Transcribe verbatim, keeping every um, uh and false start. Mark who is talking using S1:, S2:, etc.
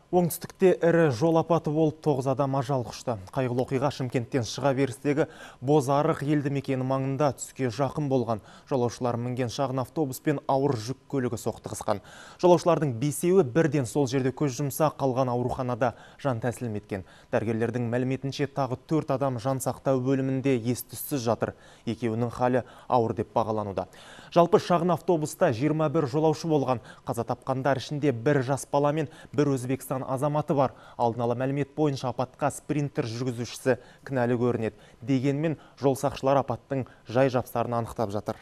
S1: Оңтүстікте ірі жол апаты болып тоғыз адам ажал құшты. Қайғылы оқиға Шымкенттен шыға берістегі Бозарық елді мекені маңында түске жақын болған. Жолаушылар мінген шағын автобус пен ауыр жүк көлігі соқтығысқан. Жолаушылардың бесеуі бірден сол жерде көз жұмса, қалған ауруханада жан тәсілім еткен. Дәрігерлердің мәліметінше тағы төрт адам жан сақтау бөлімінде ес-түссіз жатыр. Екеуінің халі ауыр деп бағалануда. Жалпы шағын автобуста жиырма бір жолаушы болған. Қаза тапқандар ішінде бір жас бала мен бір Өзбекстан азаматы бар. Алдын ала мәлімет бойынша апатқа спринтер жүргізушісі кінәлі көрінеді. Дегенмен жол сақшылары апаттың жай жапсарын анықтап жатыр.